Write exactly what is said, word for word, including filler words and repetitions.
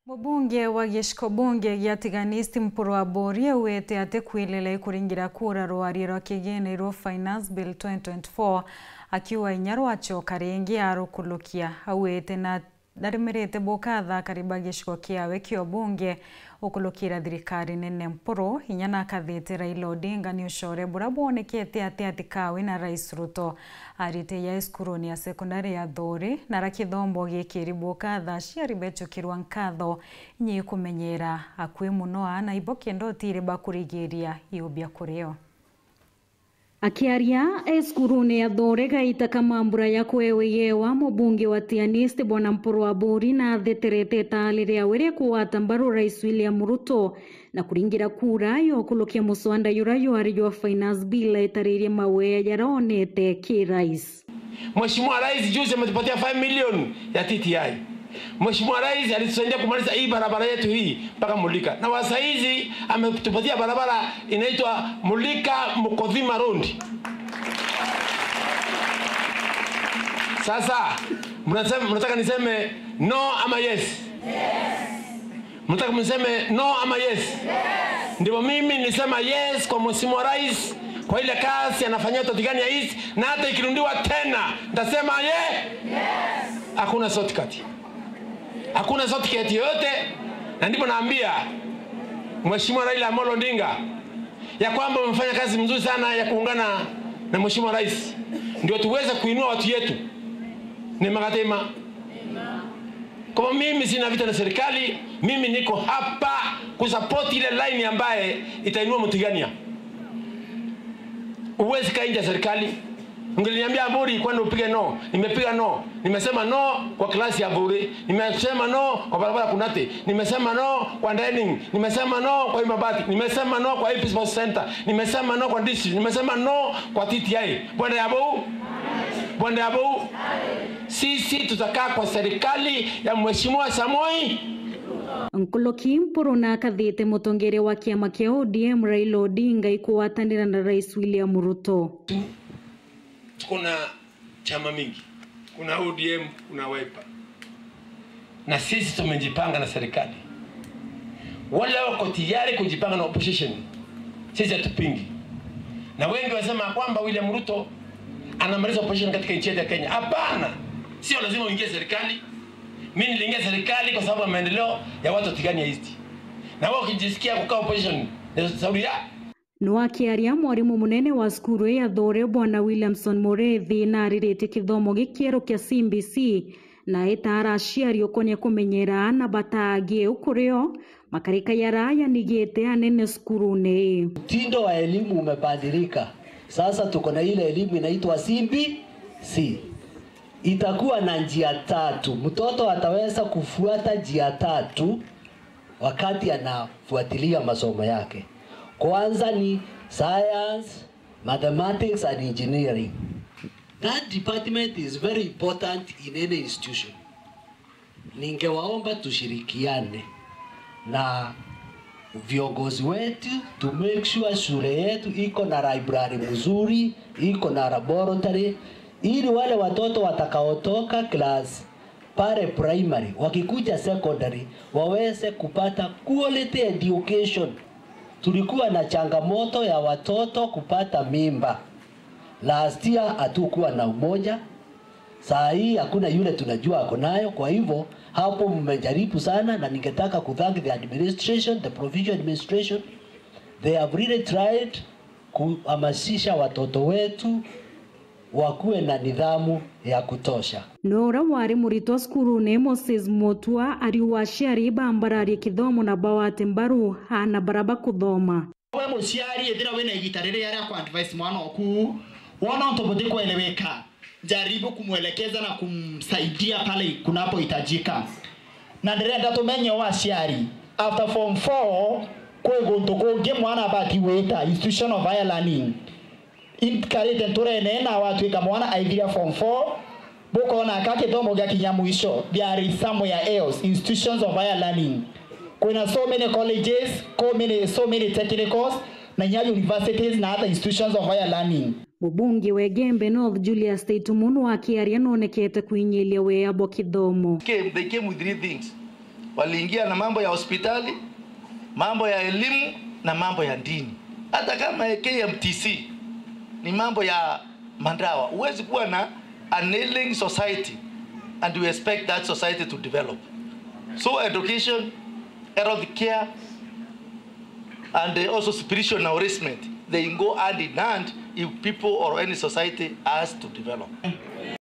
Mubunge wa giciko bunge gia Tigania East Mpuru Aburi augite ati kwirira ikuringira kura rwaria rwa kigene rwa Finance Bill twenty twenty-four, akiuga inya rwacoka ringi arukulukia. Augite na Ndarumirite bukatha akari ba gicigo kiawe kia ubunge ukulukira thirikari nene Mpuru, inya nakathite Raila Odinga ni ucore bura bwonekete ati atikawe na Rais Ruto. Arite ya cukuruni ya sekondari ya Thuri, na rakithombo gikiri bukatha aciari becukirwa nkatho, inya ikumenyera akui muno aana ibo kenda utiri bakurigiria iubia kurio. Akiaria e cukurune ya Thore gaita ka mambura ya kwewe yewa, mubunge wa Tigania East Bwana Mpuru Aburi natheterete itaali riawe ria kugwata mbaru Rais William Ruto na kuringira kura ya ukulukia muswanda jura jwari jwa Finance Bill aitaririe mawea jaria onete ki Rais. Mheshimiwa Rais juzi ametupatia five million ya T T I. Mheshimiwa Rais alitusaidia kumaliza hii barabara yetu hii mpaka Mulika. Na wa saizi ametupatia barabara inaitwa Mulika Mukothima Road. Sasa, mnasema, mnataka niseme no ama yes? Mnataka mseme no ama yes? Ndivyo mimi nisema yes kwa Mheshimiwa Rais, kwa ile kazi anafanyia watu wa Tigania East, na hata ikirundiwa tena, nitasema ye-, hakuna shortcut. Hakuna shortcut yoyote, na ndipo naambia Mheshimiwa Raila Amolo Odinga ya kwamba umefanya kazi mzuri sana ya kuungana na Mheshimiwa Rais, ndio tuweze kuinua watu yetu. Ni magatema. Kwa hivyo mimi sina vita na serikali, mimi niko hapa kusupport ile line ambaye itainua Mtigania. Huwezi kaa nje ya serikali. Ungeniambia Aburi, kwenda upige no, nimepiga no. Nimesema no kwa klasi ya Aburi, nimesema no kwa barabara Kunate, nimesema no kwa dining, nimesema no kwa hii mabati, nimesema no kwa hii People's Center, nimesema no kwa district, nimesema no kwa T T I. Bwana ya bou, bwana ya bou. Sisi tutakaa kwa serikali ya Mheshimiwa Samoi. Nkuluki Mpuru nakathite mutongeria wa kiama kia O D M Raila Odinga ikugwatanira na Rais William Ruto. Tuko na chama mingi, kuna O D M, kuna Wiper, na sisi tumejipanga na serikali. Wale wako tayari kujipanga na opposition, sisi hatupingi. Na wengi wanasema kwamba William Ruto anamaliza opposition katika nchi yetu ya Kenya. Hapana, sio lazima uingie serikali. Mimi niliingia serikali kwa sababu ya maendeleo ya watu wa Tigania East, na wao wakijisikia kukaa opposition, ni shauri ya Nwakiaria, mwarimu munene wa cukuru ya Thore, Bwana Williamson Murethi, nariritie kithomo gikieru kia C B C, na etaara aciari ukonia kumenyera aana bataagie ukurio makarika yara yanigite anene cukurune ii. Mtindo wa elimu umebadilika. Sasa tuko na ile elimu inaitwa C B C. Itakuwa na njia tatu. Mtoto ataweza kufuata njia tatu wakati anafuatilia masomo yake. Kwanza ni science, mathematics and engineering. That department is very important in any institution. Ningewaomba tushirikiane na viongozi wetu to make sure shule yetu iko na library mzuri, iko na laboratory, ili wale watoto watakaotoka class pale primary, wakikuja secondary, waweze kupata quality education. Tulikuwa na changamoto ya watoto kupata mimba. Last year hatukuwa na umoja. Saa hii hakuna yule tunajua ako nayo. Kwa hivyo, hapo mmejaribu sana, na ningetaka kuthank the administration, the provincial administration. They have really tried kuhamasisha watoto wetu wakuwe na nidhamu ya kutosha. No uria wari muritwa cukurune, Moses Mutua, ariuga aciari bambararie kithomo na bawate mbaru aana bara bakuthoma. We muciari, ethira wina igita riria ria ku advise mwana oku, wona untu butikweleweka, jaribu kumwelekeza na kumsaidia pale kunapohitajika. Na ndirenda tumenye o aciari, after form four, kwi guntu kungi mwana abati gwita, institution of higher learning. Inkarite nturene na watwika mwana aithiria form four, bukona ka kithomo giakinya mwisho, there is somewhere else, institutions of higher learning. Kwina so many colleges, so many, so many technicals, na inya universities na other institutions of higher learning. Mubunge wa Igembe North Julius Taitumu akiaria nonekete kwinyilia wea bwa kithomo. Came, they came with three things. Waliingia na mambo ya hospitali, mambo ya elimu na mambo ya dini. Hata kama K M T C ni mambo ya madawa, huwezi kuwa na an ailing society and you expect that society to develop. So education, health care, and also spiritual nourishment, they go hand in hand if people or any society has to develop.